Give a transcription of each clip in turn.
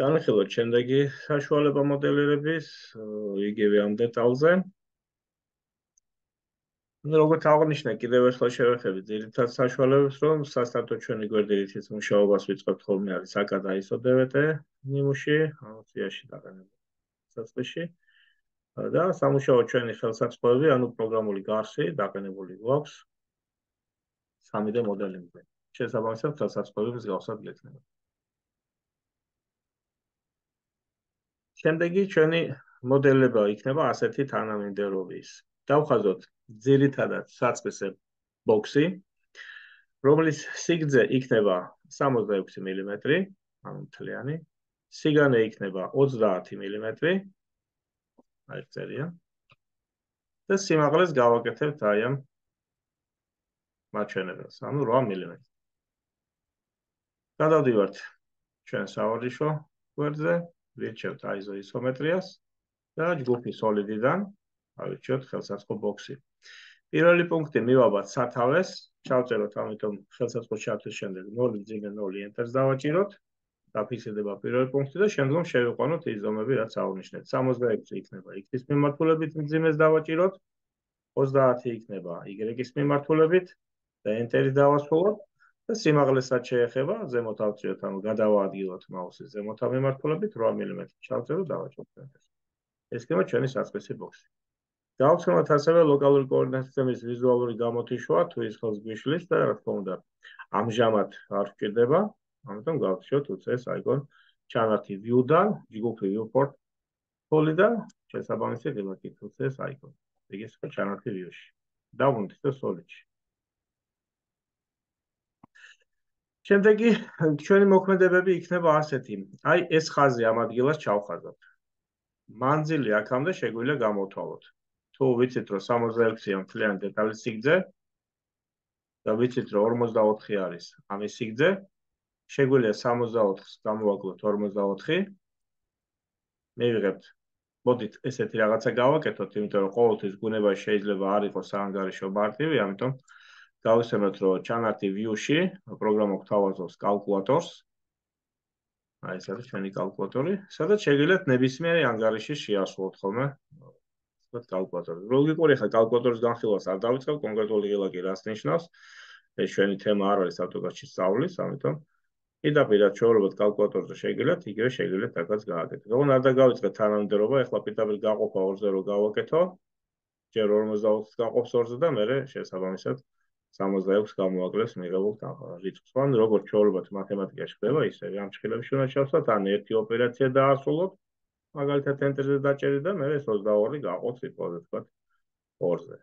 განვიხილოთ შემდეგი საშუალება მოდელირების, იგივე ამ დეტალზე. როგორც აღნიშნე, კიდევ ერთხელ შევეხებით ძირითად საშუალებებს, რომ სასტარტო ჩვენი გვერდითის მუშაობას ვიწყებთ ხოლმე არის აკად ISO DVT ნიმუში, სიაში დაყენებული საწყისში. და სამუშაო ჩვენი ხელსაწყოები, ანუ პროგრამული გარსი დაყენებული გვაქვს 3D მოდელინგზე. შესაბამისად, ხელსაწყოების გავსად გექნება. შემდეგი ჩვენი მოდელება იქნება ასეთი თანამიმდევრობის. დავხაზოთ ძირითადად საწყისე ბოქსი, რომლის სიგრძე იქნება 66 მმ, ანუ მთლიანი, სიგანე იქნება 30 მმ, აი წერია. და სიმაღლეს გავაკეთებთ აი ამ მაჩვენებელს, ანუ 8 მმ. გადავდივართ ჩვენ სავარჯიშო გვერდზე, ვირჩევთ ISO ისომეტრიას და ჯგუფი solid-დან ავირჩიოთ ხელსაწყო ბოქსი. პირველი პუნქტი მივაბათ სათავეს, ჩავწეროთ ამიტომ ხელსაწყო ჩართვის შემდეგ 0.0 enter-ს დავაჭიროთ, დაფიქსირდება პირველი პუნქტი და შემდგომ შევიყვანოთ ის ზომები, რაც აღვნიშნეთ. 66 იქნება X-ის მიმართულებით მძიმეს დავაჭიროთ, 30 იქნება Y-ის მიმართულებით და enter-ი დავასრულოთ და სიმაღლესაც შეეხება ზემოთ ავწიოთ, ანუ გადავაადგილოთ მაუსის ზემოთა მიმართულებით 8 მმ ჩავწეროთ და დავაჭიროთ enter-ს. ეს იქნება ჩვენი საწყისი ბოქსი. გავხსენოთ ასევე ლოკალური კოორდინატის სისტემის ვიზუალური გამოთიშვა, თუ ის ხელს გვიშლის და რა თქმა უნდა, ამჟამად არ გვჭირდება, ამიტომ გავხსენოთ უცეს აიკონ ჩანართი view-დან, ჯგუფი viewport tool-დან, შესაბამისად ელაკით უცეს აიკონ. ეგ ისე ჩანართი view-ში. დავუნდით და solid-ში. შემდეგი ჩვენი მოქმედებები იქნება ასეთი. აი ეს ხაზი ამ ადგილას ჩავხაზოთ. მანძილი აქამდე შეგვიძლია გამოვთვალოთ. თუ ვიცით, რომ 66-ია მთლიანი დეტალის სიგრძე და ვიცით, რომ 44 არის ამის სიგრძე, შეგვიძლია 64-ს გამოვაკლოთ 44. მივიღებთ. მოდით ესეთი რაღაცა გავაკეთოთ, იმიტომ რომ ყოველთვის ბუნებაში შეიძლება არ იყოს საანგარიშო მარტივი, ამიტომ გავიხსენოთ, რომ ჩანართი view-ში პროგრამა გვთავაზობს კალკულატორს. აი ეს არის ჩვენი კალკულატორი, სადაც შეგიძლიათ ნებისმიერი ანგარიში შეასრულოთ ხოლმე. კალკულატორი. ლოგიკური ხა კალკულატორის განხილვას არ დავიწყებ, კონკრეტული ღილაკი რას ნიშნავს. ეს ჩვენი თემა არ არის ავტოგასში სწავლის, ამიტომ პირდაპირ ჩვეულებრივ კალკულატორზე შეგიძლიათ, იგივე შეგიძლიათ აქაც გააკეთოთ. ოღონდ არ დაგავიწყეთ თანამდებობა, ეხლა პირდაპირ გაყოფა 2-ზე რო გავაკეთო, ჯერ 44-ს გაყოფს 2-ზე და მერე შესაბამისად 66 გამოვაკლებს მიღებულ რიცხვს. ან როგორც ჩვეულებრივ მათემატიკაში ხდება, ისე ამ ჭხილებში უნდა შევსვათ, ან ერთი ოპერაცია დაასრულოთ. მაგალითად enter-ზე დაჭერით და მერე 22 გაყოთ სიტყვაზე თქვათ 2-ზე.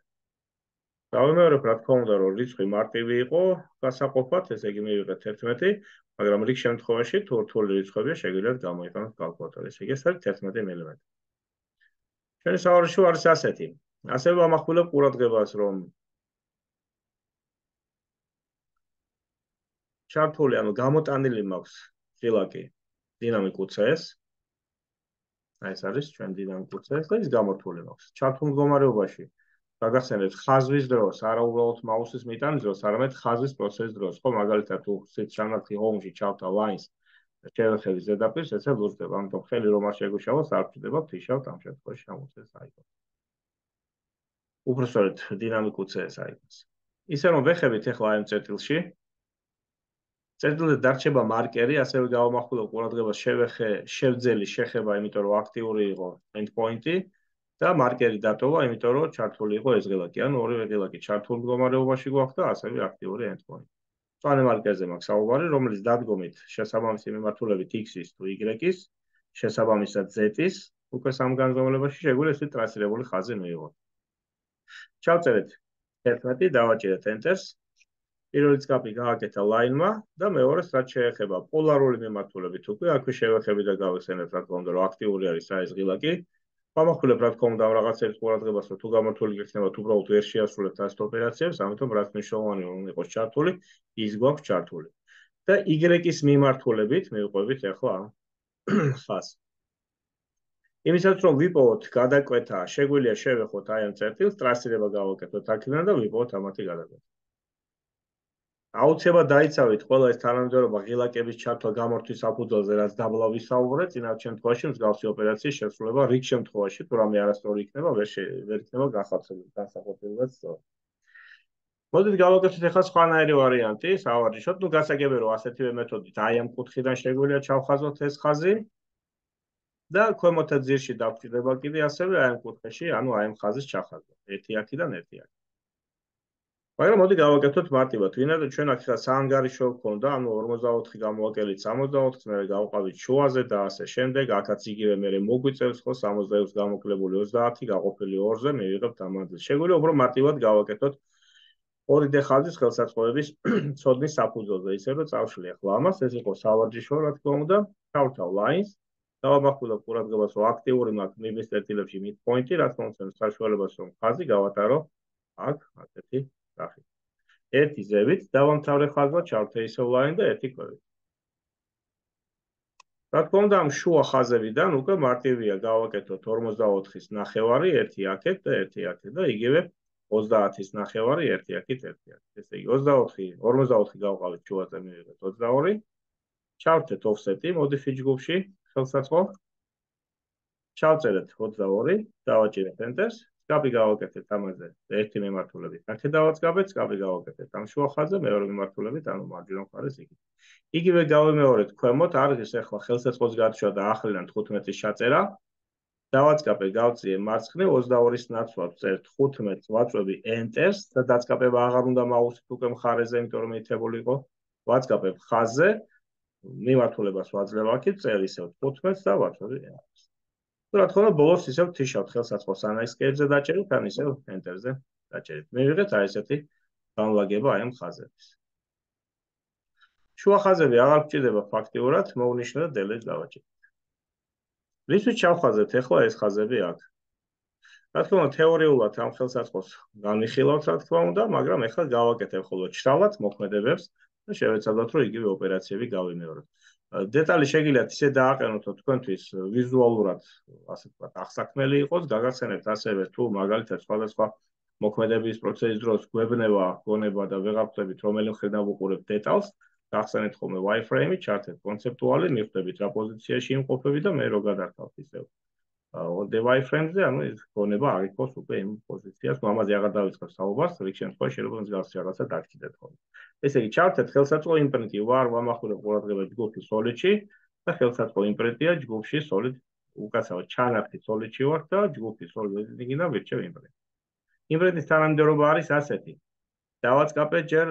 დავიმეორებ, რა თქმა უნდა, რომ რიცხვი მარტივი იყო, გასაყოფად, ესე იგი მივიღეთ 11, მაგრამ რიგ შემთხვევაში თუ რთული რიცხვებია, შეგიძლიათ გამოიყენოთ კალკულატორი. ესე იგი ეს არის 11 მმ. ჩვენი სავარჯიშო არის ასეთი. ასევე ვამახვილებ ყურადღებას, რომ ჩართული, ანუ გამოტანილი მაქვს ღილაკი დინამიკ UCS. აი ეს არის ჩვენ დინამიკ UCS და ის გამორთული მაქვს. ჩართულ მდგომარეობაში გაგახსენებთ ხაზვის დროს, არა უბრალოდ მაუსის მიტანის დროს, არამედ ხაზვის პროცესის დროს. ხო, მაგალითად თუ ჩანართი home-ში ჩავთა lines და შევეხები ზედაპირს, ესე ლურჯდება. ამიტომ ხელი რომ არ შეგვიშალოს, არ ვჭირდება ვთიშავთ ამ შემთხვევაში ამ UCS აიკონს. უბრალოდ დინამიკ UCS აიკონს. ისე რომ ვეხებით ახლა ამ წერტილში წერტილზე დარჩება მარკერი, ასევე გავამახვილებ ყურადღებას შევძელი შეხება, იმიტომ რომ აქტიური იყო endpoint-ი და მარკერი დატოვა, იმიტომ რომ ჩართული იყო ეს ღილაკი, ანუ ორივე ღილაკი ჩართულ მდგომარეობაში გვაქვს და ასევე აქტიური endpoint. მწვანე მარკერზე მაქვს საუბარი, რომელიც დადგომით შესაბამისი მიმართულებით X-ის თუ Y-ის, შესაბამისად Z-ის, უკვე სამ განზომილებაში შეგვიძლია ესეთი ტრასირებული ხაზი მივიღოთ. ჩავწერეთ 11, დავაჭერეთ enter-ს. პირველი წკაპი გააკეთა line-მა და მეორეს რაც შეეხება პოლარული მიმართულებით უკვე აქვე შევეხები და გავიხსენებთ, რა თქმა უნდა, რომ აქტიური არის ეს ღილაკი. ვამახვილებ, რა თქმა უნდა, რაღაცების ყურადღებას, რომ თუ გამორთული გექნებათ, უბრალოდ ვერ შეასრულებთ ასეთ ოპერაციებს, ამიტომ რაც მნიშვნელოვანი რომ იყოს ჩართული, ის გვაქვს ჩართული. და Y-ის მიმართულებით მივყვებით ახლა ხაზს. იმისაც რომ ვიპოვოთ გადაკვეთა, შეგვიძლია შევეხოთ აი ამ წერტილს, ტრასირება გავაკეთოთ აქედან და ვიპოვოთ ამათი გადაკვეთა. აუცილებლად დაიცავით ყველა ეს თანამედროვე ღილაკების ჩართვა გამორთვის საფუძველზე, რაც დაბლა ვისაუბრეთ, წინათ შემთხვევაში მსგავსი ოპერაციის შესრულება რიგ შემთხვევაში, თუ რამე არასწორი იქნება, ვერ იქნება განსახორციელებლად სწორი. მოდით გავაკეთოთ ახლა სხვანაირი ვარიანტი, სავარჯიშოდ, გასაგებია რომ ასეთივე მეთოდით აი ამ კუთხიდან შეგვიძლია ჩავხაზოთ ეს ხაზი და ქვემოთა ძირში დავჭირდება კიდე ასევე აი ამ კუთხეში, ანუ აი ამ ხაზის ჩახაზვა. 1 აქედან 1 აქ. მაგრამ მოდი გავაკეთოთ მარტივად. ვინაიდან ჩვენ აქ საანგარიშო გვქონდა, ანუ 44 გამოვაკელით 64-ს, მე გავყავით შუაზე და ასე შემდეგ, აქაც იგივე მე მოგვიწევს ხო 66 გამოკლებული 30 გაყოფილი 2-ზე, მივიღებთ ამ ადგილს. შეგვიძლია უფრო მარტივად გავაკეთოთ 2D ხაზის ხელსაწყოების ცოდნის საფუძველზე, ისე რომ წავშლი ახლა ამას, ეს იყო სავარჯიშო, რა თქმა უნდა, თავთავ ლაინს. დავამახვილებ ყურადღებას, რომ აქტიური მაქვს მიბის წერტილებში midpoint-ი, რა თქმა უნდა, საშუალებას რომ ხაზი გავატარო აქ, ასეთი სახით. 1 ზევით დავამთავრე ხაზმა, ჩავთე ისევ ლაინ და 1 ქვევით. რა თქმა უნდა, ამ შუა ხაზებიდან უკვე მარტივია გავაკეთოთ 44-ის ნახევარი, 1 აქეთ და 1 აქეთ და იგივე 30-ის ნახევარი, 1 აქეთ, 1 აქეთ. ესე იგი 44 გავყავით შუაზე, მივიღეთ 22. ჩავთეთ offset-ი, modify ჯგუფში, ხელსაწყო. ჩავწერეთ 22, დავაჭირეთ enter-ს. სკაპი გავაკეთეთ ამაზე, ერთი მემართულებით. აქეთ დავაწყაბეთ, სკაპი გავაკეთეთ ამ შუა ხაზზე, მეორე მემართულებით, ანუ მარჯვენა მხარეს იქით. იგივე გავიმეორეთ ქვემოთ, არის ახლა ხელსაწყოს გადაშვა და ახლიდან 15-ის ჩაწერა. დავაწყაბე, გავწიე მარცხნე 22-ის ნაცვლად წერთ 15, ვაწვევი enter-ს და დაწყაბება აღარ უნდა მაუსით უკვე მხარეზე, იმიტომ რომ ითებული იყო. ვაწყაბებ ხაზზე, მიმართულებას ვაძლევ აქეთ, წერ ისევ 15 და ვაწვევი enter-ს. რა თქმა უნდა, ბოლოს ისევ თიშავთ ხელსაწყოს ან ის კერძზე დაჭერით, ან ისევ enter-ზე დაჭერით. მივიღეთ აი ესეთი განლაგება აი ამ ხაზების. შუა ხაზები აღარ გვჭირდება ფაქტიურად, მოვნიშნე და delete დავაჭირეთ. რისთვის ჩავხაზეთ ახლა ეს ხაზები აქ? რა თქმა უნდა, თეორიულად ამ ხელსაწყოს განვიხილავთ, რა თქმა უნდა, მაგრამ ახლა გავაკეთებ ხოლმე ჩრალად მოქმედებებს და შევეცადოთ, რომ იგივე ოპერაციები გავიმეოროთ. დეტალი შეგიძლიათ ისე დააყენოთ, რომ თქვენთვის ვიზუალურად, ასე ვთქვათ, აღსაქმელი იყოს, გაგახსენებთ ასევე თუ მაგალითად სხვადასხვა მოქმედების პროცესის დროს გვებნება, გონება და ვეღარ ხვდებით, რომელი მხრიდან ვუყურებთ დეტალს, გახსენებთ ხოლმე wireframe-ი, ჩართეთ კონცეპტუალი, მიხვდებით რა პოზიციაში იმყოფები და მე რო გადართავთ ისევ. the wireframe-ზე, ანუ ეს გონება არ იყოს უკვე იმ პოზიციას, ამაზე აღარ დავიწყებ საუბარს, რიგ შემთხვევაში შეიძლება მსგავსი რაღაცა დაგჭირდეთ ხოლმე. ესე იგი, ჩავთეთ ხელსაწყო იმპრინტი, ვარ ვამახვილებ ყურადღებას ჯგუფი solid-ში და ხელსაწყო იმპრინტია ჯგუფში solid, უკაცრავად ჩანართი solid-ში ვარ და ჯგუფი solid editing-იდან ვირჩევ იმპრინტ. იმპრინტის თანამდებობა არის ასეთი. დავაწყაბე ჯერ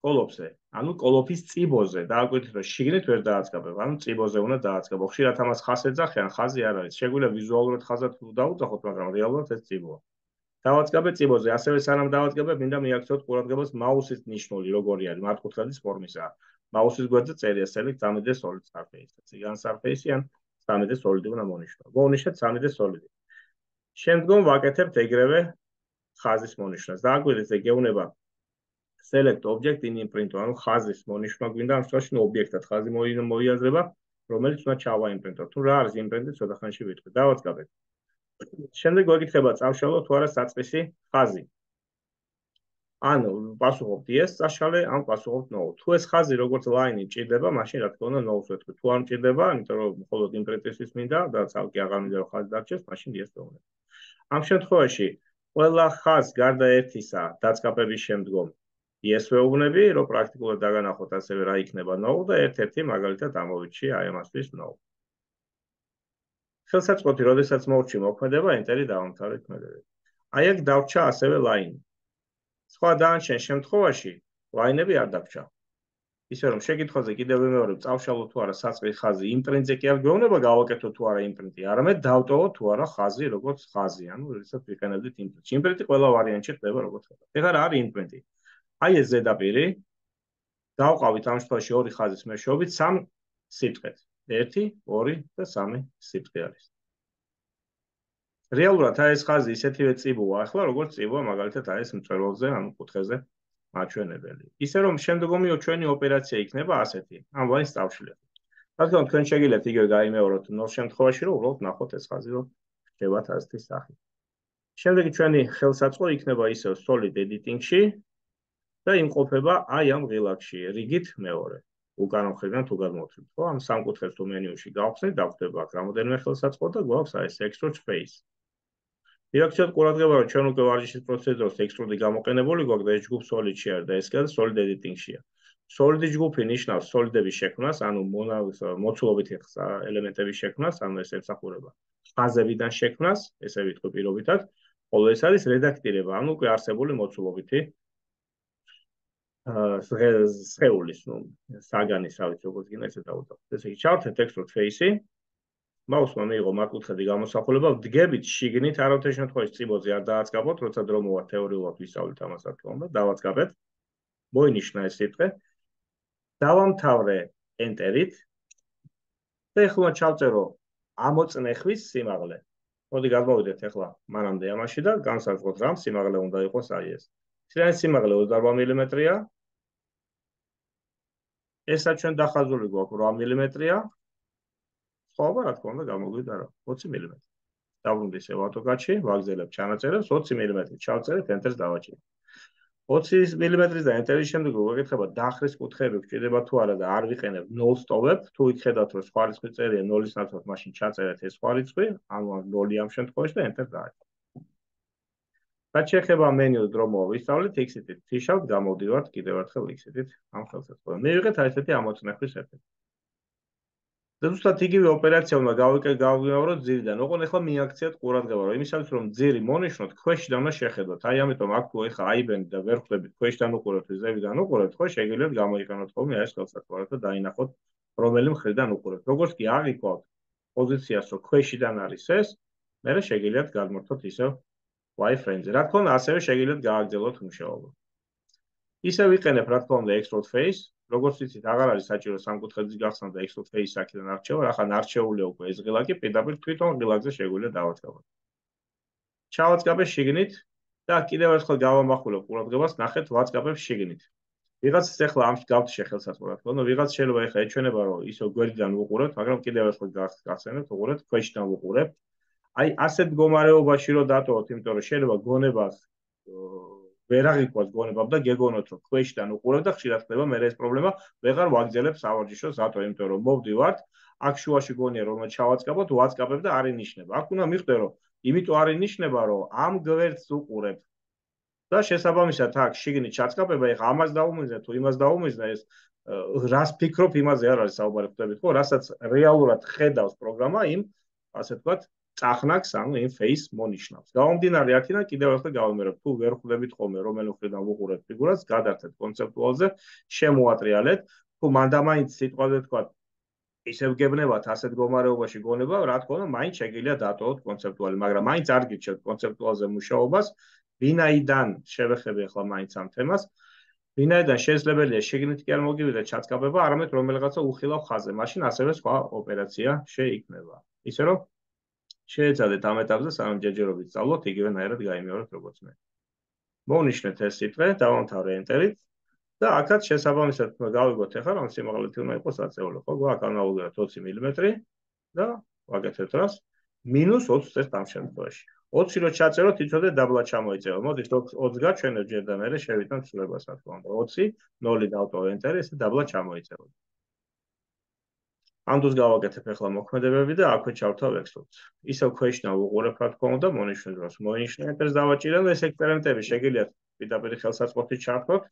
კოლოფზე, ანუ კოლოფის წიბოზე, დააკვირდით, რომ შიგნით ვერ დააწყაბებ, ანუ წიბოზე უნდა დააწყაბო. ხშირად ამას ხაზს ეძახიან, ხაზი არ არის. შეგვიძლია ვიზუალურად ხაზად დაუძახოთ, მაგრამ რეალურად ეს წიბოა. დავაწყაბე წიბოზე, ასევე სანამ დავაწყაბებ, მინდა მიაქცევთ ყურადღებას მაუსის ნიშნული, როგორი არის, მართკუთხედის ფორმისაა. მაუსის გვერდზე წერია select 3D solid surface. ციგან surface-ი ან 3D solid-ი უნდა მონიშნო. მოვნიშნეთ 3D solid-ი. შემდგომ ვაკეთებთ ეგრევე ხაზის მონიშნას. დააკვირდით, გეუბნება select object in imprint, ანუ ხაზის მონიშნა გვინდა ამ შემთხვევაში ობიექტად ხაზი მოიაზრება, რომელიც უნდა ჩავაიმპრინტოთ. თუ რა არის იმპრინტი, ცოტა ხანში ვიტყვი. დავაწყაბეთ. შემდეგ გვეკითხება წავშალო თუ არა საწყისი ხაზი. ანუ პასუხობთ yes, წაშალე, ან პასუხობთ no. თუ ეს ხაზი როგორც line-ი მჭირდება, მაშინ რა თქმა უნდა no-ს ვეთქვი. თუ არ მჭირდება, იმიტომ რომ მხოლოდ იმპრინტისთვის მინდა და ცალკე აღარ მინდა რომ ხაზი დარჩეს, მაშინ yes ვეუბნებ. ამ შემთხვევაში ყველა ხაზს გარდა ერთისა დაწყაბების შემდგომ yes ვეუბნები, რომ პრაქტიკულად დაგანახოთ ასევე რა იქნება no და ერთ-ერთი მაგალითად ამოვიჩი აი ამასთვის no. ხელსაწყოთი, როდესაც მოვჭი მოქმედება, enter-ი დავამთავრეთ მოქმედებები. აი აქ დავჭა ასევე line. სხვა დანარჩენ შემთხვევაში line-ები არ დაგჭა. ისე რომ შეკითხვაზე კიდევ ვიმეორებ, წავშალო თუ არა საწყის ხაზი იმპრინტზე კი არ გვეუბნება გავაკეთო თუ არა იმპრინტი, არამედ დავტოვო თუ არა ხაზი როგორც ხაზი, ანუ როდესაც ვიყენებდით იმპრინტს. იმპრინტი ყველა ვარიანტში ხდება როგორც ხდება. ეხლა რა არის იმპრინტი? აი ეს ზედაპირი დავყავით ამ შემთხვევაში ორი ხაზის მეშვეობით 3 სიბრტყეთ. 1, 2 და 3 სიბრტყე არის. რეალურად აი ეს ხაზი ისეთივე წიბოა, ახლა როგორც წიბოა მაგალითად აი ეს მწვერვალზე, ანუ კუთხეზე მაჩვენებელი. ისე რომ შემდგომი ჩვენი ოპერაცია იქნება ასეთი. ამ ლაინს წავშლით. რა თქმა უნდა, თქვენ შეგიძლიათ იგივე გაიმეოროთ ნულ შემთხვევაში, რომ უბრალოდ ნახოთ ეს ხაზი რომ ხდებათ ასეთი სახით. შემდეგი ჩვენი ხელსაწყო იქნება ისევ solid editing-ში. და იმყოფება აი ამ ღილაკში, რიგით მეორე. უკანა მხრიდან თუ გადმოვთვლით, ხო? ამ სამკუთხედს თუ მენიუში გავხსნით, დაგვხვდება აქ რამოდენიმე ხელსაწყო და გვაქვს აი ეს extrude face. რეაქციად ყურადღება, რომ ჩვენ უკვე ვარჯიშის პროცედურას extrude გამოყენებული გვაქვს და ეს ჯგუფ solid-ში არის და ეს კიდე solid editing-შია. Solid ჯგუფი ნიშნავს solid-ების შექმნას, ანუ მოცულობითი ელემენტების შექმნას, ანუ ეს ემსახურება ხაზებიდან შექმნას, ესე ვიტყვი პირობითად, ხოლო ეს არის რედაქტირება, ანუ უკვე არსებული მოცულობითი სხეულის, საგანის, ავით როგორც გინდა ესე დავუძახოთ. ესე იგი, ჩავთეთ extrude face-ი. მაუსმა მიიღო მართკუთხედი გამოსახულება, ვდგებით შიგნით, არავითარ შემთხვევაში წიბოზე არ დააწყაბოთ, როცა დრო მოვა თეორიულად ვისწავლით ამას რა თქმა უნდა, დავაწყაბეთ. მოინიშნა ეს სიტყვე. დავამთავრე enter-ით. და ეხლა ჩავწერო ამოწნეხვის სიმაღლე. მოდი გადმოვიდეთ ეხლა მანამდე ამაში და განსაზღვროთ რა სიმაღლე უნდა იყოს აი ეს. ცილიანის სიმაღლე 24 მმ-ია. ესა ჩვენ დახაზული გვაქვს 8 მმ-ია. ხობა რა თქმა უნდა გამოგვიდა რა 20 მმ. დავუნდი სევატოგაჩი, ვაგზელებ ჩანაწერებს 20 მმ-ით ჩავწერეთ enter-ს დავაჭირეთ. 20 მმ-ის და enter-ის შემდეგ ვეკითხება დაახრის კუთხეები გვჭირდება თუ არა და არ ვიყენებ 0-ს ტოვებ, თუ იქხედავთ რომ სხვა რიცხვი წერია 0-ის ნაცვლად, მაშინ ჩაწერეთ ეს სხვა რიცხვი, ანუ 0 ამ შემთხვევაში და enter დააჭირეთ. რაც შეეხება მენიუს დრო მოვისწავლით, X-ით თიშავთ, გამოვდივართ კიდევ ერთხელ X-ით ამ ხელსაწყოზე. მივიღეთ აი ესეთი ამოწნეხვის ეფექტი. და ზუსტად იგივე ოპერაცია უნდა გავიმეოროთ ძირიდან. ოღონდ ეხლა მიაქციათ ყურადღება, რომ იმისათვის რომ ძირი მონიშნოთ, ქვეშიდან უნდა შეხედოთ. აი ამიტომ აქ თუ ეხლა აიბენდით და ვერ ხვდებით ქვეშიდან უყურებთ, ზევიდან უყურებთ, ხო შეგიძლიათ გამოიყენოთ ხოლმე ეს ხელსაწყო და დაინახოთ რომელი მხრიდან უყურებთ. როგორც კი აღიქვათ პოზიციას, რომ ქვეშიდან არის ეს, მერე შეგიძლიათ გადმორთოთ ისევ wireframe-ზე. რა თქმა უნდა, ასევე შეგიძლიათ გააგრძელოთ მუშაობა. ისე ვიყენებ, რა თქმა უნდა, extrude face. როგორც ვიცით, აღარ არის საჭირო სამკუთხედის გახსნა და extrude face აქედან არჩევა, ახლა არჩეულია უკვე ეს ღილაკი, პირდაპირ თვითონ ღილაკზე შეგვიძლია დავაწყაბოთ. ჩავაწყაბებ შიგნით და კიდევ ერთხელ გავამახვილებ ყურადღებას, ნახეთ, ვაწყაბებ შიგნით. ვიღაცას ახლა ამში გავთიშე ხელსაწყო, რა თქმა უნდა, ვიღაც შეიძლება ახლა ეჩვენება, რომ ისო გვერდიდან ვუყურებთ, მაგრამ კიდევ ერთხელ გახსენებთ, უყურებთ, ქვეშიდან ვუყურებთ. აი, ასეთ მდგომარეობაში რომ დატოვოთ, იმიტომ რომ შეიძლება გონებას ვერ აღიქვას გონებამ და გეგონოთ რომ ქვეშიდან უყურებ და ხშირად ხდება მე ეს პრობლემა ვეღარ ვაგრძელებ სავარჯიშოს რატო იმიტომ რომ მოვდივართ აქ შუაში გონია რომ ჩავაწყაბოთ ვაწყაბებ და არ ინიშნება აქ უნდა მიხვდე რომ იმიტომ არ ინიშნება რომ ამ გვერდს უყურებ და შესაბამისად აქ შიგნით ჩაწყაბება ეხა ამას დაუმიზნე თუ იმას დაუმიზნე ეს რას ფიქრობ იმაზე არ არის საუბარი ხვდებით ხო რასაც რეალურად ხედავს პროგრამა იმ ასე ვთქვათ წახნაგს, ანუ იმ face მონიშნავს. გამომდინარე აქედან კიდევ ერთხელ გავიმეორებ, თუ ვერ ხვდებით ხოლმე რომელი მხრიდან ვუყურებთ ფიგურას, გადართეთ კონცეპტუალზე, შემოატრიალეთ, თუ მანდამაინც სიტყვაზე თქვა, ისევ გებნებათ ასეთ მდგომარეობაში გონება, რა თქმა უნდა, მაინც შეგიძლია დატოვოთ კონცეპტუალი, მაგრამ მაინც არ გირჩევთ კონცეპტუალზე მუშაობას, ვინაიდან შევეხები ახლა მაინც ამ თემას, ვინაიდან შესაძლებელია შეგნით კი არ მოგივიდეთ ჩაწყაბება, არამედ რომელიღაცა უხილავ ხაზზე, მაშინ ასევე სხვა ოპერაცია შეიქმნება. ისე რომ შეეცადეთ ამ ეტაპზე სანამ ჯერჯერობით სწავლოთ, იგივენაირად გაიმეორეთ როგორც მე. მოვნიშნეთ ეს სიტყვე, დავამთავრე enter-ით და აქაც შესაბამისად გავიგოთ ახლა რომ სიმაღლეთი უნდა იყოს აწეული, ხო? გვაქვს ანალოგიურად 20 მმ და ვაკეთებთ რას? -20 წელს ამ შემთხვევაში. 20 რო ჩაწეროთ, იცოდეთ დაბლა ჩამოიწევა. მოდით 20 გაჩვენებ ჯერ და მერე შევიტანთ ცვლილებას, რა თქმა უნდა. 20, 0 დავტოვე enter-ი, ესე დაბლა ჩამოიწევა. ამ დროს გავაკეთებ ახლა მოქმედებები და აქვე ჩავთავ extrude. ისევ ქვეშიდან ვუყურებ რა თქმა უნდა მონიშნე დროს მონიშნე enter-ს დავაჭირე და ეს ექსპერიმენტები შეგიძლიათ პირდაპირ ხელსაწყოთით ჩართოთ.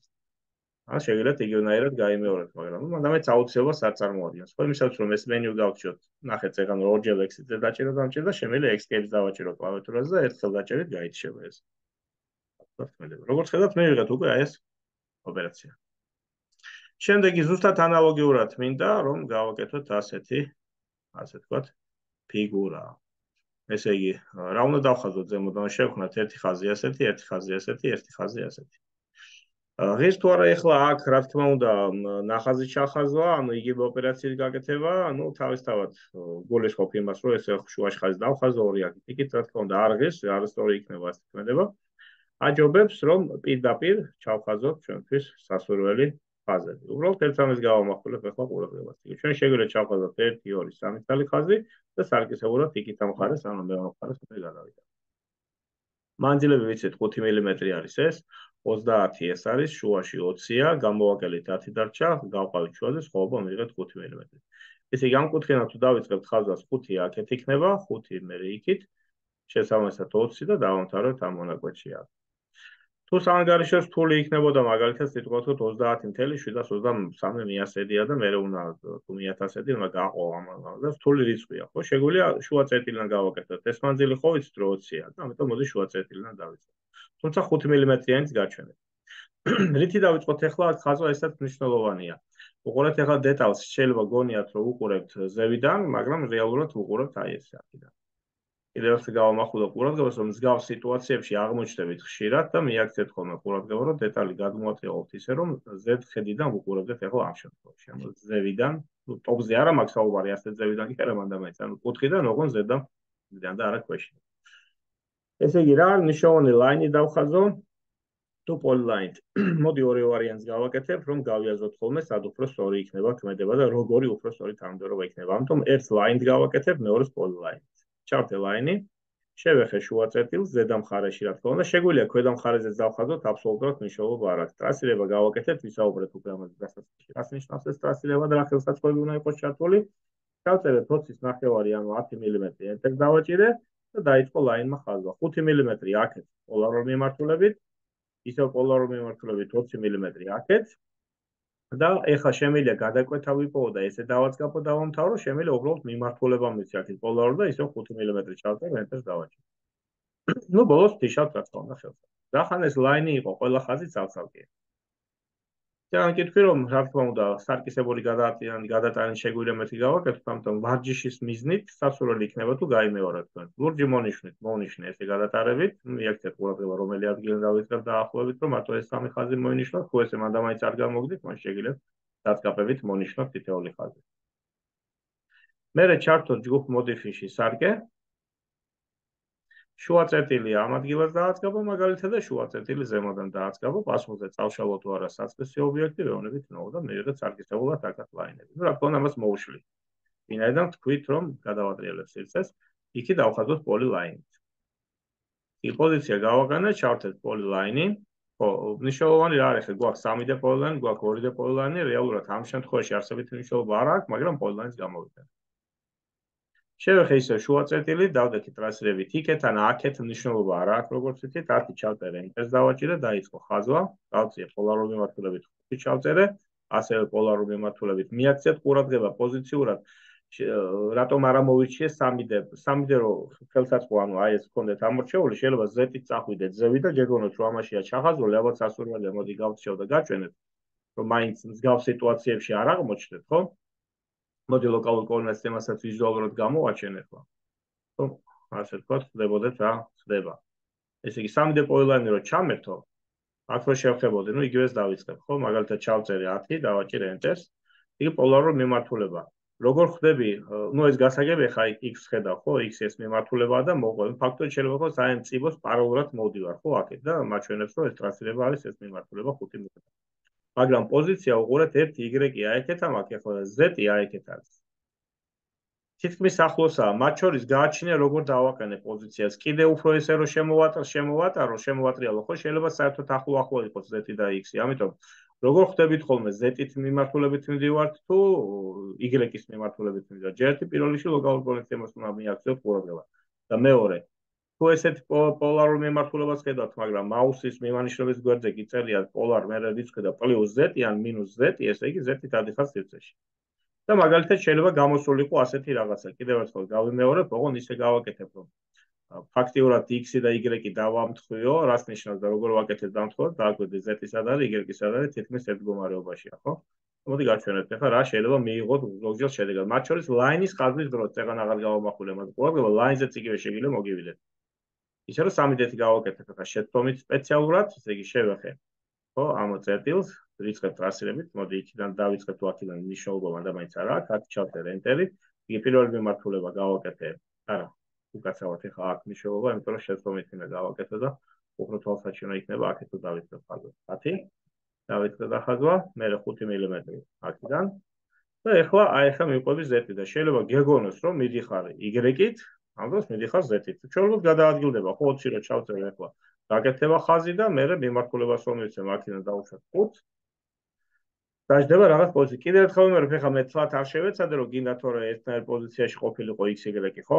ან შეგიძლიათ იგივენაირად გაიმეორებთ, მაგრამ მანდამეც აუცილებლად არ წარმოადგენს. ხო იმისათვის რომ ეს მენიუ გავჩიოთ, ნახეთ ზეგან ორჯერ X-ზე დაჭერა დამჭირდა, შემიძლია X-კეებს დავაჭირო კლავიატურაზე და ერთხელ დაჭერით გაიჩება ეს. როგორც ხედავთ, მივიღეთ უკვე აი ეს ოპერაცია. შემდეგი ზუსტად ანალოგიურად მინდა რომ გავაკეთოთ ასეთი, ასე ვთქვათ, ფიგურა. ესე იგი, რა უნდა დავხაზოთ ზემოდან შევქნათ ერთი ხაზი ასეთი, ერთი ხაზი ასეთი, ერთი ხაზი ასეთი. ღირს თუ არა ეხლა აქ რა თქმა უნდა ნახაზი ჩახაზვა, ანუ იგივე ოპერაციის გაკეთება, ანუ თავისთავად გულისხმობ იმას, რომ ეს შუაში ხაზი დავხაზო, ორი აქ იქით, რა თქმა უნდა არ ღირს, არასწორი იქნება ასე თქმედება. აჯობებს რომ პირდაპირ ჩავხაზოთ ჩვენთვის სასურველი ხაზები. უბრალოდ ერთ ამის გავამახვილებ ახლა ყურადღებას. ჩვენ შეგვიძლია ჩავხაზოთ 1, 2, 3 თალი ხაზი და სარკისებურად იქით ამ მხარეს, ანუ მეორე მხარეს უნდა გადავიდეთ. მანძილები ვიცით 5 მმ არის ეს, 30 ეს არის, შუაში 20-ია, გამოვაკელით 10 დარჩა, გავყავით შუაზე, სხვაობა მივიღეთ 5 მმ. ესე იგი ამ კუთხიდან თუ დავიწყებთ ხაზვას 5 აქეთ იქნება, 5 მე იქით, შესაბამისად 20 და დავამთავრებთ ამ მონაკვეთში აქ. თუ საანგარიშო რთული იქნებოდა მაგალითად სიტყვათ 30.723 და მე უნდა თუ 1000 უნდა გაყო ამ და რთული რიცხვია, ხო? შეგვიძლია შუა წერტილიდან გავაკეთოთ. ეს მანძილი ხო ვიცით რომ 20-ია, ამიტომ მოდი შუა წერტილიდან დავიწყოთ. თუმცა 5 მმ-იანიც გაჩვენეთ. რითი დავიწყოთ ახლა ხაზვა ესაც მნიშვნელოვანია. უყურეთ ახლა დეტალს, შეიძლება გონიათ რომ უყურებთ ზევიდან, მაგრამ რეალურად უყურებთ აი ეს აქედან. კიდევ ერთხელ გავამახვილო ყურადღებას, რომ მსგავს სიტუაციებში აღმოჩნდებით ხშირად და მიაქცეთ ხოლმე ყურადღება, რომ დეტალი გადმოაწეოთ ისე, რომ Z ხედიდან უყურებდეთ ახლა ამ შემთხვევაში. ანუ ზევიდან, ტოპზე არა მაქვს საუბარი, ასე ზევიდან კი არა მანდამაიც, ანუ კუთხიდან ოღონდ Z-დან და არა ქვეშიდან. ესე იგი, რა არის მნიშვნელოვანი ლაინი დავხაზო? თუ პოლილაინით. მოდი ორი ვარიანტს გავაკეთებ, რომ გავიაზროთ ხოლმე სად უფრო სწორი იქნება ქმედება და როგორი უფრო სწორი თანმიმდევრობა იქნება. ამიტომ ერთ ლაინს გავაკეთებ, მეორეს პოლილაინს. ჩავთე ლაინი, შევეხე შუა წერტილს ზედა მხარეში, რა თქმა უნდა, შეგვიძლია ქვედა მხარეზე დავხაზოთ აბსოლუტურად მნიშვნელობა არ აქვს. ტრასირება გავაკეთეთ, ვისაუბრეთ უკვე ამაზე დასასრულში. რას ნიშნავს ეს ტრასირება და რა ხელსაწყოები უნდა იყოს ჩართული? დავწერეთ 20-ის ნახევარი, ანუ 10 მმ ენტერს დავაჭირე და დაიწყო ლაინმა ხაზვა. 5 მმ აქეთ პოლარულ მიმართულებით, ისევ პოლარულ მიმართულებით 20 მმ აქეთ. და ეხლა შემიძლია გადაკვეთა ვიპოვო და ესე დავაწყაპო დავამთავრო, შემიძლია უბრალოდ მიმართულება მიცი აქეთ პოლარულ და ისევ 5 მმ ჩავწერ ენტერს დავაჭირე. ნუ ბოლოს ფიშავთ რა თქმა უნდა ხელს. რახან ეს ლაინი იყო, ყველა ხაზი ცალ-ცალკეა. ძალიან კითხვი რომ რა თქმა უნდა სარკისებული გადატანის შეგვიძლია მეთქი გავაკეთოთ, ამიტომ ვარჯიშის მიზნით სასურველი იქნება თუ გაიმეოროთ თქვენ. ლურჯი მონიშნე ესე გადატარებით, მიაქცეთ ყურადღება რომელი ადგილიდან დავიწყებ დაახლოებით, რომ მარტო ეს სამი ხაზი მოინიშნოთ, თუ ესე მანდამაინც არ გამოგდით, მაშინ შეგიძლიათ დაწყაპებით მონიშნოთ თითოეული ხაზი. მერე ჩართოთ ჯგუფ მოდიფიში სარკე. შუა წერტილი ამ ადგილას დააწყობა მაგალითად და შუა წერტილი ზემოდან დააწყობა, პასუხზე წავშალოთ თუ არა საწესო ობიექტი, ვეუბნებით ნო და მივიღეთ სარკისებულად აქაც ლაინები. ნუ რა თქმა უნდა მას მოუშვით. ვინაიდან თქვით რომ გადავატრიალებ სივრცეს, იქი დავხაზოთ პოლილაინით. იქ პოზიცია გავაგანეთ, ჩავთეთ პოლილაინი. ხო, მნიშვნელოვანი რა არის, გვაქვს 3D პოლილაინი, გვაქვს 2D პოლილაინი, რეალურად ამ შემთხვევაში არსებითი მნიშვნელობა არ აქვს, მაგრამ პოლილაინს გამოვიდეთ. შევეხე ისე შუა წერტილი, დავდექი ტრასირებით იქეთ, ან აქეთ მნიშვნელობა არ აქვს, როგორც ვთქვით, 10 ჩავწერე, ენტერს დავაჭირე, დაიწყო ხაზვა, გავწიე პოლარული მიმართულებით 5 ჩავწერე, ასევე პოლარული მიმართულებით მიაქცეთ ყურადღება პოზიციურად, რატომ არ ამოვიჩიე 3D რო ხელსაწყო, ანუ აი ეს გქონდეთ ამორჩეული, შეიძლება Z-ით წახვიდეთ ზევი და გეგონოთ რომ ამაშია ჩახაზული, ალბათ სასურველია, მოდი გავწიო და გაჩვენეთ, რომ მაინც მსგავს სიტუაციებში არ აღმოჩნდეთ, ხო? მოდი ლოკალურ კოორდინატ სისტემასაც ვიზუალურად გამოვაჩენეთ, რომ ასე ვთქვათ, ხდებოდეთ რა ხდება. ესე იგი 3D პოლილაინი რო ჩამერთო, აქ რო შევხებოდი, ნუ იგივეს დავიწყებ, ხო? მაგალითად ჩავწერე 10, დავაჭირე ენტერს. იგი პოლარული მიმართულება. როგორ ხდები, ნუ ეს გასაგებია, ხა X ხედავ, ხო? X ეს მიმართულებაა და მოყვე. ფაქტორი შეიძლება იყოს აი ამ წიბოს პარალელურად მოვდივარ, ხო, აქეთ და მაჩვენებს, რომ ეს ტრასირება არის ეს მიმართულება 5 მ. მაგრამ პოზიცია უყურეთ 1 Y-ი აიქეთ ამ აქ ახლა Z-ი აიქეთ არის. თითქმის ახლოსაა, მათ შორის გააჩინე როგორ დავაყენე პოზიციას. კიდე უფრო ესე რომ შემოვატრიალო, ხო, შეიძლება საერთოდ ახლო იყოს Z-ი და X-ი. ამიტომ როგორ ხდებით ხოლმე Z-ით მიმართულებით მივდივართ თუ Y-ის მიმართულებით მივდივართ. ჯერ ერთი პირველ რიგში ლოკალურ კონექტემას უნდა მიაქციოთ ყურადღება. და მეორე, თუ ესეთ პოლარულ მიმართულებას ხედავთ, მაგრამ მაუსის მიმანიშნების გვერდზე გიწერია პოლარ მერე რიცხვი და +Z ან -Z, ესე იგი Z-ით ადიხარ სივრცეში. და მაგალითად შეიძლება გამოსულიყო ასეთი რაღაცა. კიდევ ერთხელ გავიმეორებ, ოღონდ ისე გავაკეთებ, რომ ფაქტიურად X-ი და Y-ი დავამთხვიო, რას ნიშნავს და როგორ ვაკეთებ დამთხოვოთ, დააკვირდით Z-ი სად არის, Y-ი სად არის, თითქმის ერთ მდგომარეობაშია, ხო? მოდი გაჩვენებთ ახლა რა შეიძლება მიიღოთ ზოგჯერ შედეგად. მათ შორის ლაინის ხაზვის დროს წეგან აღარ გავამახვილე, მაგრამ ყურადღება ლაინზეც იგივე შეგიძლია მოგივიდეთ. ისე რომ 3D-ი გავაკეთებ ახლა შეცდომით სპეციალურად, ესე იგი შევეხე, ხო, ამ წერტილს ვიწყებ ტრასირებით, მოდი იქიდან დავიწყებ თუ აქედან მნიშვნელობა მანდამაინც არ აქვს, აქ ჩავწერე ენტერი, იგი პირველი მიმართულება გავაკეთე, არა, უკაცრავად ახლა აქ მნიშვნელობა, იმიტომ რომ შეცდომით უნდა გავაკეთო და უფრო თვალსაჩინო იქნება აქეთ თუ დავიწყებ ხაზვა. 10 დავიწყე და ხაზვა, მერე 5 მმ აქედან და ახლა მივყვები Z-ი და შეიძლება გეგონოს რომ მიდიხარ Y-ით ამ დროს მიდიხარ Z-ით. ჩვეულებრივ გადაადგილდება 5-ში რო ჩავწერ ახლა. გაკეთება ხაზი და მე მიმართულებას რომ მივცემ აქედან დავუშვათ 5. დაждდება რაღაც პოზიცია. კიდევ ერთხელ ვიმეორებ, ეხლა მე თლათ არ შევეცადე, რომ გინდა თორე ერთნაირ პოზიციაში ყოფილიყო XY, ხო?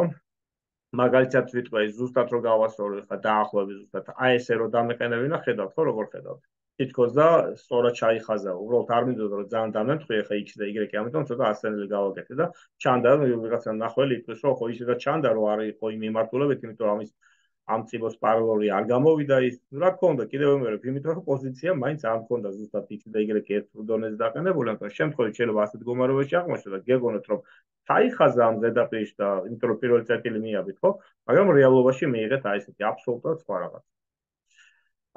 მაგალითად ვიტყვი, ზუსტად რო გავასწორო, ეხლა დაახლოებით ზუსტად აი ესე რო დამეყენებინა, ხედავთ ხო როგორ ხედავთ? თითქოს და სწორად ჩაიხაზა. უბრალოდ არ მინდოდა რომ ძალიან დამემთხი, ეხლა X და Y, ამიტომ ცოტა ასწენელი გავაკეთე და ჩანდა ვიღაცა ნახველი იტყვის, რომ ხო ისედაც ჩანდა, რომ არ იყო იმ მიმართულებით, იმიტომ რომ ამის ამ წიბოს პარალელი არ გამოვიდა ის. რა თქმა უნდა, კიდევ ვიმეორებ, იმიტომ რომ პოზიცია მაინც არ მქონდა ზუსტად X და Y ერთ დონეზე დაყენებული, ამიტომ შემთხვევით შეიძლება ასეთ მდგომარეობაში აღმოჩნდეს და გეგონოთ, რომ ჩაიხაზა ამ ზედაპირში და იმიტომ რომ პირველი წერტილი მიაბით, ხო? მაგრამ რეალობაში მიიღეთ აი ესეთი აბსოლუტურად სხვა რაღაც.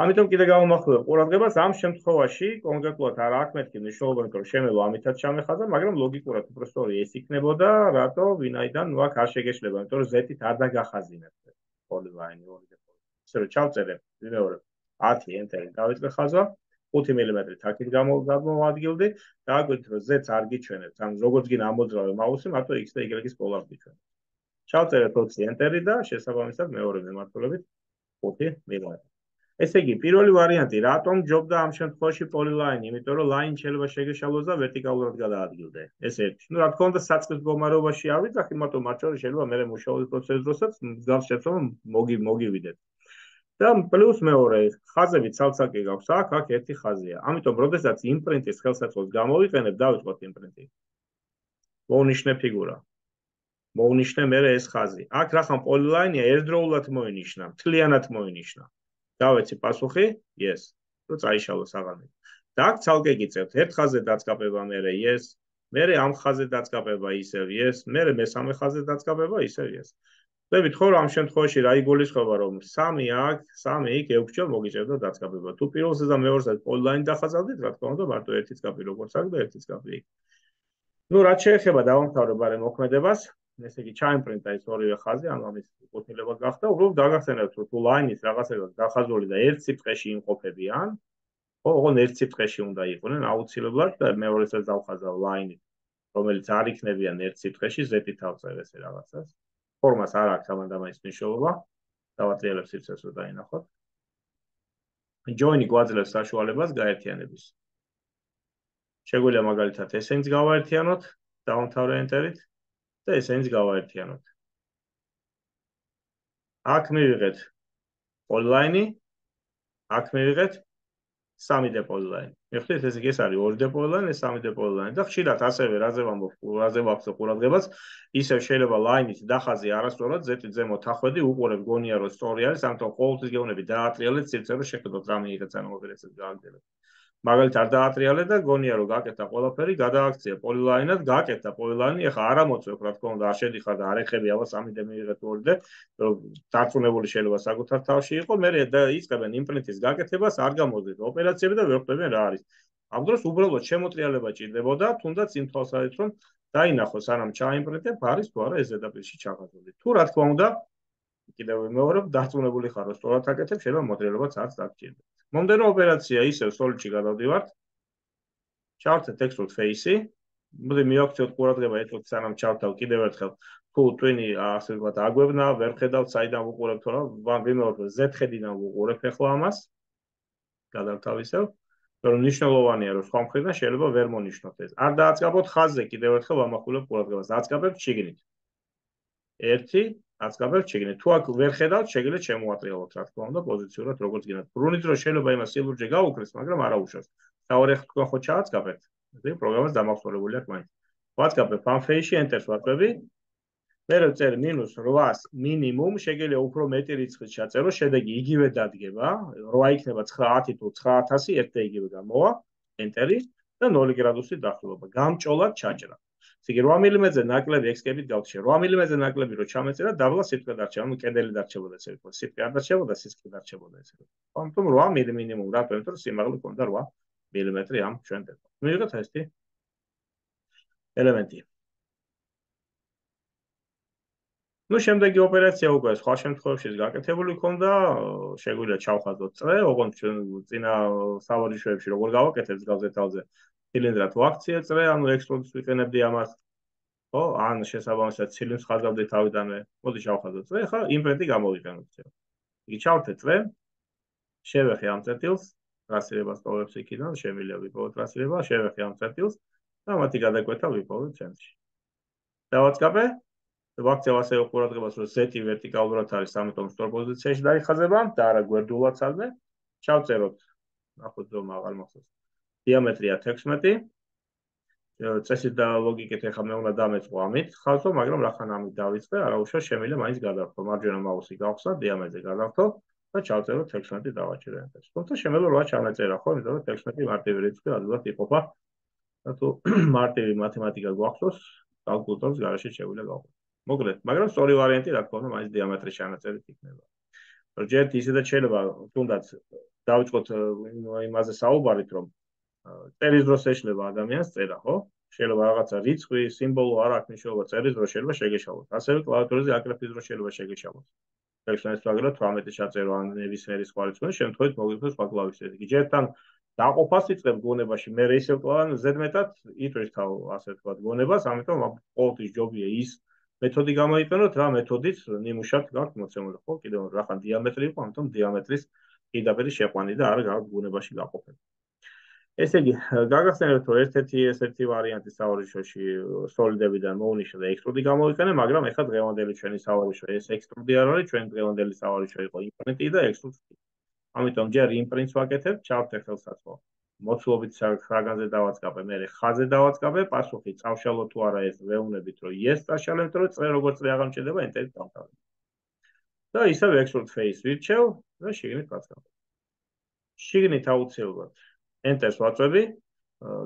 ამიტომ კიდე გავამახვილებ ყურადღებას ამ შემთხვევაში კონკრეტულად არ აქვს მეთქი მნიშვნელობა, იმიტომ რომ შემევა ამითაც ჩამეხაზა, მაგრამ ლოგიკურად უფრო სწორი ეს იქნებოდა, რატო ვინაიდან ნუ აქ არ შეგეშლება, იმიტომ რომ Z-ით არ დაგახაზინებთ პოლილაინი ორი და პოლილაინი. ისე რომ ჩავწერე, ვიმეორებ 10 ენტერი დავიწყე ხაზვა, 5 მმ-ით აქეთ გამოვადგილდი, დააკვირდით რომ Z-ს არ გიჩვენებთ, ან როგორც გინდა ამოძრავე მაუსი, მარტო X და Y-ის პოლარს გიჩვენებთ. ჩავწერეთ 20 ენტერი და შესაბამისად მეორე მიმართულებით 5 მმ. ესე იგი, პირველი ვარიანტი, რატომ ჯობდა ამ შემთხვევაში პოლილაინი, იმიტომ რომ ლაინი შეიძლება შეგეშალოს და ვერტიკალურად გადაადგილდე. ეს ერთი. ნუ რა თქმა უნდა, საწყის მდგომარეობაში არ ვიძახი, მაგრამ მათ შორის შეიძლება მე მუშაობის პროცესის დროსაც მსგავს შეცდომა მოგივიდეთ. და პლუს მეორე, ხაზები ცალ-ცალკე გაქვს, აქ ერთი ხაზია. ამიტომ, როდესაც იმპრინტის ხელსაწყოს გამოვიყენებ, დავიწყოთ იმპრინტი. მოვნიშნე ფიგურა. მოვნიშნე მე ეს ხაზი. აქ რახან პოლილაინია ერთდროულად მოინიშნა, მთლიანად მოინიშნა. დავეცი პასუხი, yes. რო წაიშალოს აღარ. და აქ ცალკე გიწევთ, ერთ ხაზზე დაწყაბება მე yes, მე ამ ხაზზე დაწყაბება ისევ yes, მე მესამე ხაზზე დაწყაბება ისევ yes. ხვდებით ხო, რომ ამ შემთხვევაში რა იგულისხმება, რომ 3 აქ, 3 იქ 6 ჯერ მოგიჭერდა დაწყაბება. თუ პირველზე და მეორეზე პოლილაინი დახაზავდით, რა თქმა უნდა, მარტო ერთი წკაპი როგორც აქვს და ერთი წკაპი იქ. ნუ რაც შეეხება დავამთავრებ ბარე მოქმედებას, ესე იგი ჩაიმპრინტა ეს ორივე ხაზი, ანუ ამის ყოფილება გახდა, უბრალოდ დაგახსენებთ, რომ თუ ლაინის რაღაცებად დახაზული და ერთ სიტყვაში იმყოფებიან, ხო, ოღონდ ერთ სიტყვაში უნდა იყვნენ აუცილებლად და მეორესაც დავხაზავ ლაინით, რომელიც არ იქნებიან ერთ სიტყვაში, Z-ით ავწერ ესე რაღაცას. ფორმას არ აქვს ამანდამაის მნიშვნელობა. დავატრიალებ სივრცეს რომ დაინახოთ. join-ი გვაძლევს საშუალებას გაერთიანების. შეგვიძლია მაგალითად ესენიც გავაერთიანოთ, დავამთავრე ენტერით და ესენიც გავაერთიანოთ. აქ მივიღეთ პოლილაინი, აქ მივიღეთ 3D პოლილაინი. მიხდით, ეს იგი ეს არის 2D პოლილაინი, ეს 3D პოლილაინი და ხშირად ასევე რაზე ვამბობ ყურადღებას, ისევ შეიძლება ლაინით დახაზი არასწორად Z-ით ზემოთ ახვედი, უყურებ გონია რომ სწორი არის, ამიტომ ყოველთვის გეუბნები დაატრიალეთ სივრცე რომ შეხედოთ რა მიიღეთ ან ოპერაციას გააგრძელებთ. მაგალითად არ დაატრიალეთ და გონია რომ გაკეთა ყველაფერი, გადააქცია პოლილაინად, გაკეთა პოლილაინი, ეხა არ ამოწევ, რა თქმა უნდა, არ შედიხარ და არ ეხები აბა 3D მიიღეთ 2D, რომ დარწმუნებული შეიძლება საკუთარ თავში იყო, მე იწყებენ იმპრინტის გაკეთებას, არ გამოძეთ ოპერაციები და ვერ ხვდებიან რა არის. ამ დროს უბრალოდ შემოტრიალება ჭირდებოდა, თუნდაც იმ თვალსაზრისით, რომ დაინახოს სანამ ჩაიმპრინტებ, არის თუ არა ეს ზედაპირში ჩახაზული. თუ რა თქმა უნდა, კიდევ ვიმეორებ, დარწმუნებული ხარ, რომ სწორად აკეთებ, შეიძლება მოტრიალებაც არც დაგჭირდეს. მომდევნო ოპერაცია ისევ Solid-ში გადავდივართ. ჩავთეთ Extrude Face-ი. მოდი მივაქციოთ ყურადღება ერთად სანამ ჩავთავ კიდევ ერთხელ. თუ twin-ი ასე ვთქვათ აგვევნა, ვერ ხედავთ საიდან ვუყურებთ, რა, ვიმეორებ, Z-ხედიდან ვუყურებ ახლა ამას. გადავთავისევ. რომ მნიშვნელოვანია, რომ სხვა მხრიდან შეიძლება ვერ მონიშნოთ ეს. არ დააწყაბოთ ხაზზე, კიდევ ერთხელ ვამახვილებ ყურადღებას. აწყაბებთ შიგნით. 1 აწყაბებთ შიგნით. თუ აქ ვერ ხედავთ, შეგიძლიათ შემოატრიალოთ, რა თქმა უნდა, პოზიციურად როგორც გინდათ. ბრუნით რომ შეიძლება იმას სილურჯე გაუქრეს, მაგრამ არა უშავს. თავი თქვენ ხო ჩააწყაბებთ. ესე პროგრამას დამახსოვრებული აქვს მაინც. ვაწყაბებ ამ face-ში enter-ს ვაწყები. მე ვწერ -800 მინიმუმ, შეგიძლია უფრო მეტი რიცხვით ჩაწერო, შედეგი იგივე დადგება, 8 იქნება 910 თუ 9000 ერთ და იგივე გამოვა, enter-ი და 0 გრადუსით დაახლოება. გამჭოლად ჩაჭრა. ესე იგი 8 მმ-ზე ნაკლები ექსკებით გავხშე. 8 მმ-ზე ნაკლები რო ჩამეწერა, დაბლა სიტყვე დარჩება, ანუ კედელი დარჩებოდა ესე ვთქვათ. სიტყვე არ დარჩებოდა, სისქე დარჩებოდა ესე ვთქვათ. ამიტომ 8 მინიმუმ, რატო? იმიტომ რომ სიმაღლე ქონდა 8 მმ ამ ჩვენ დებო. მივიღეთ ესეთი ელემენტი. ნუ შემდეგი ოპერაცია უკვე სხვა შემთხვევებში გაკეთებული ქონდა, შეგვიძლია ჩავხაზოთ წრე, ოღონდ ჩვენ წინა სავარჯიშოებში როგორ გავაკეთებთ გაზეთალზე, ცილინდრად ვაქციე წრე, ანუ ექსტრუდს ვიყენებდი ამას. ხო, ან შესაბამისად ცილიმს ხაზავდით თავიდანვე. მოდი შევხაზოთ წრე, ხა იმპრინტი გამოვიყენოთ. იგი ჩავთე წრე, შევეხე ამ წერტილს, ტრასირებას ტოვებს იქიდან, შემიძლია ვიპოვოთ ტრასირება, შევეხე ამ წერტილს და მათი გადაკვეთა ვიპოვოთ ცენტრში. დავაწყაბე, ვაქცევ ასე ყურადღებას, რომ ზეთი ვერტიკალურად არის, ამიტომ სწორ პოზიციაში დაიხაზება და არა გვერდულადსაზე. ჩავწეროთ, ნახოთ რომ აღარ მახსოვს. დიამეტრია 16. წესით და ლოგიკით ეხლა მე უნდა დამეწყო ამით ხაზო, მაგრამ რახან ამით დავიწყე, არაუშავს შემიძლია მაინც გადავხო. მარჯვენა მაუსი გავხსნა, დიამეტრზე გადავხო და ჩავწეროთ 16 დავაჭირე ენტერს. თუმცა შემიძლია 8 ჩავწერა ხო, იმიტომ რომ 16 მარტივი რიცხვი ადვილად იყოფა. და თუ მარტივი მათემატიკა გვახსოვს, კალკულატორს გარშე შეგვიძლია გავხსნათ. მოკლედ, მაგრამ სწორი ვარიანტი რა თქმა უნდა მაინც დიამეტრის ჩანაწერით იქნება. ჯერ ისედაც შეიძლება თუნდაც დავიწყოთ იმაზე საუბარით, რომ წერის დროს ეშლება ადამიანს წერა, ხო? შეიძლება რაღაცა რიცხვი, სიმბოლო არ აქვს მნიშვნელობა, წერის დროს შეიძლება შეგეშალოთ. ასევე კლავიატურაზე აკრეფის დროს შეიძლება შეგეშალოთ. ექსპერიმენტს ვაგროთ 18 ჩაწერო ან ნებისმიერი სხვა რიცხვი, შემთხვევით მოგვიყვეს სხვა კლავიშები. იგი ჯერთან დაყოფას იწყებს გონებაში, მე ისევ კლავან ზედმეტად იტვირს თავ ასე ვთქვათ გონებას, ამიტომ ყოველთვის ჯობია ის მეთოდი გამოიყენოთ, რა მეთოდით ნიმუშად გაქვთ მოცემული, ხო? კიდევ რახან დიამეტრი იყო, ამიტომ დიამეტრის პირდაპირ შეყვანი და არა გაქვთ გონებაში გაყოფები. ესე იგი, გაგახსენებთ, რომ ერთ-ერთი ვარიანტი სავარჯიშოში სოლიდებიდან მოუნიშნა და ექსტრუდი გამოიყენე, მაგრამ ეხლა დღევანდელი ჩვენი სავარჯიშო ეს ექსტრუდი არ არის, ჩვენი დღევანდელი სავარჯიშო იყო იმპრინტი და ექსტრუდი. ამიტომ ჯერ იმპრინტს ვაკეთებ, ჩავთე ხელსაწყო. მოცულობით საგანზე დავაწყაბე, მე ხაზზე დავაწყაბე, პასუხი წავშალო თუ არა ეს ვეუბნებით, რომ yes წაშალებ, რომ წრე როგორც წრე აღარ მჭირდება, ენტერით დავთავაზე. და ისევ extrude face ვირჩევ და შიგნით ვაწყაბე. შიგნით აუცილებლად ენტერს ვაწვევი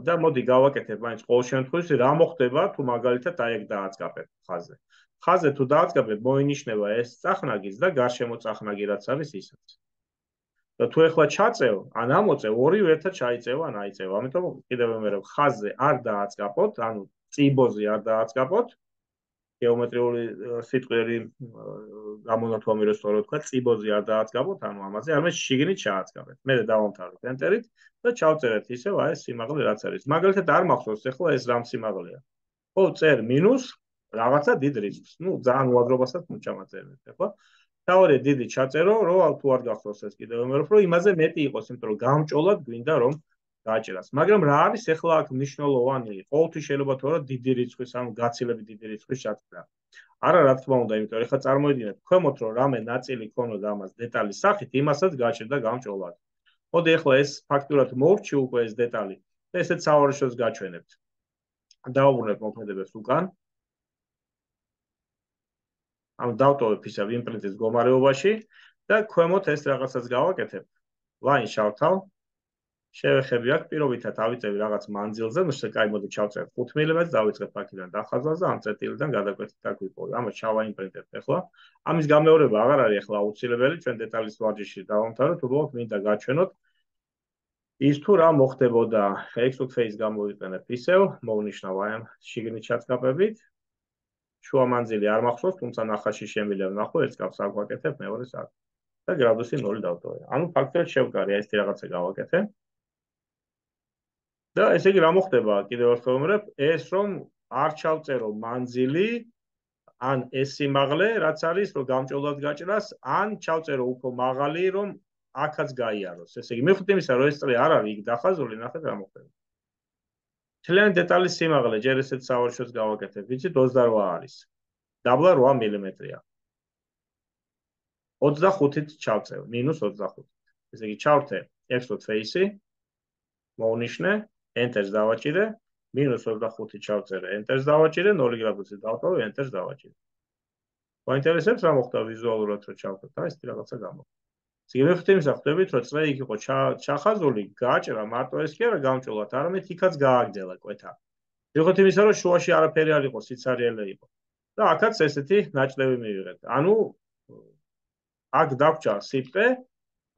და მოდი გავაკეთებ მაინც ყოველ შემთხვევაში რა მოხდება თუ მაგალითად აი ეგ დააწყაბებ ხაზზე. ხაზზე თუ დააწყაბებ, მოინიშნება ეს წახნაგიც და გარშემო წახნაგი რაც არის ისაც. და თუ ეხლა ჩაწევ, ან ამოწევ, ორივე ერთად ჩაიწევ ან აიწევ. ამიტომ კიდევ ვიმეორებ, ხაზზე არ დააწყაპოთ, ანუ წიბოზე არ დააწყაპოთ. გეომეტრიული სიტყვები გამონათვალე რომ სწორად ვთქვა, წიბოზე არ დააწყაპოთ, ანუ ამაზე არამედ შიგნით ჩააწყაპეთ. მე დავამთავრებ ენტერით და ჩავწერეთ ისევ აი ეს სიმაღლე რაც არის. მაგალითად არ მახსოვს ეხლა ეს რამ სიმაღლეა. ხო, წერ მინუს რაღაცა დიდ რიცხვს. ნუ ძალიან უადრობასაც მოჩამაწერეთ, ხო? თავი დიდი ჩაწერო, რომ თუ არ გახსოვს ეს კიდევ ვიმეორებ, რომ იმაზე მეტი იყოს, იმიტომ რომ გამჭოლად გვინდა რომ გააჭერას. მაგრამ რა არის ეხლა აქ მნიშვნელოვანი? ყოველთვის შეიძლება თუ არა დიდი რიცხვის, ანუ გაცილებით დიდი რიცხვის ჩაწერა. არა, რა თქმა უნდა, იმიტომ რომ ეხლა წარმოიდგინეთ, ქვემოთ რომ რამე ნაწილი ქონოდა ამას დეტალის სახით, იმასაც გააჭერდა გამჭოლად. მოდი ეხლა ეს ფაქტურად მოვრჩი უკვე ეს დეტალი და ესეც სავარჯიშოს გაჩვენებთ. დავუბრუნებ მოქმედებებს უკან. ამ დავტოვებ ისევ იმპრინტის მდგომარეობაში და ქვემოთ ეს რაღაცას გავაკეთებ. ლაინ შავთავ. შევეხები აქ პირობითად ავიწევი რაღაც მანძილზე, ნუ კაი მოდი ჩავწერებ 5 მმ-ს, დავიწყებ აქედან დახაზვას და ამ წერტილიდან გადაკვეთით აქ ვიპოვე. ამას ჩავაიმპრინტებ ახლა. ამის გამეორება აღარ არის ახლა აუცილებელი, ჩვენ დეტალის ვარჯიში დავამთავროთ, უბრალოდ მინდა გაჩვენოთ ის თუ რა მოხდებოდა. extrude face გამოვიყენებ ისევ, მოვნიშნავ აი ამ შიგნით ჩაწყაპებით. შუა მანძილი არ მახსოვს, თუმცა ნახაში შემიძლია ვნახო, ერთ კაფს აქ ვაკეთებ, მეორეს აქ. და გრადუსი 0 დავტოვე. ანუ ფაქტობრივად შევკარი აი ესეთი რაღაცა გავაკეთე. და ესე იგი რა მოხდება? კიდევ ერთხელ ვიმეორებ, ეს რომ არ ჩავწერო მანძილი, ან ეს სიმაღლე, რაც არის, რომ გამჭოლად გაჭრას, ან ჩავწერო უფრო მაღალი, რომ აქაც გაიაროს. ესე იგი, მიუხედავად იმისა, რომ ეს წრე არ არის იქ დახაზული, ნახეთ რა მოხდება. მთლიანი დეტალის სიმაღლე, ჯერ ესეც სავარჯიშოს გავაკეთებ, ვიცით 28 არის. დაბლა 8 მმ-ია. 25-ით ჩავწევ, -25. ესე იგი, ჩავრთე extrude face-ი, მოვნიშნე, enterს დავაჭირე, -25 ჩავწერე, enterს დავაჭირე, 0 გრადუსით დავტოვე, enterს დავაჭირე. გვაინტერესებს რა მოხდა ვიზუალურად რო ჩავხოთ, აი ესეთი რაღაცა გამოხდა. სიგნიფიკანტი იმისა ხვდებით, რომ წრე იქ იყო ჩახაზული, გააჭრა მარტო ეს კი არა გამჭოლად, არამედ იქაც გააგრძელა კვეთა. მიუხედავად იმისა, რომ შუაში არაფერი არ იყო, სიცარიელე იყო. და აქაც ესეთი ნაჭლევი მივიღეთ. ანუ აქ დაგვჭა სიტყე,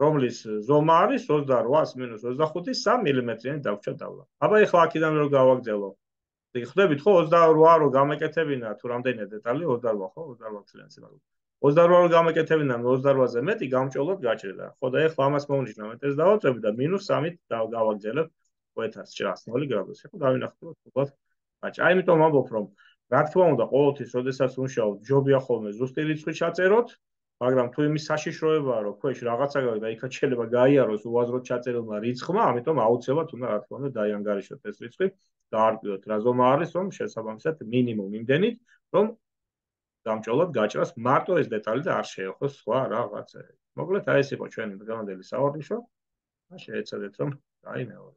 რომლის ზომა არის 28-ს -25-ი 3 მმ-იანი დაგვჭა დავლა. აბა ეხლა აქედან რო გავაგრძელო. ხვდებით ხო 28 რო გამეკეთებინა თუ რამდენია დეტალი 28 ხო 28 წლიანი სიმაღლე. 28 რო გამეკეთებინა 28-ზე მეტი გამჭოლად გაჭრდა. ხო და ეხლა ამას მოვნიშნა მეტერს დავაწევი და -3-ით გავაგრძელებ კვეთას ჭრას 0 გრადუსი. ხო დავინახოთ უბრალოდ გაჭრა. აი იმიტომ ვამბობ რომ რა თქმა უნდა, ყოველთვის, როდესაც ვმუშაობთ, ჯობია ხოლმე ზუსტი რიცხვი ჩაწეროთ, მაგრამ თუ იმის საშიშროებაა, რომ ქვეშ რაღაცა და იქაც შეიძლება გაიაროს უაზროდ ჩაწერილმა რიცხვმა, ამიტომ აუცილებლად უნდა რა თქმა უნდა დაიანგარიშოთ ეს რიცხვი, დაარკვიოთ რა ზომა არის, რომ შესაბამისად მინიმუმ იმდენით, რომ გამჭოლად გაჭრას მარტო ეს დეტალი და არ შეეხოს სხვა რაღაცები. მოკლედ, აი ეს იყო ჩვენი დღევანდელი საუბარი. და შეეცადეთ რომ გაიმეოროთ.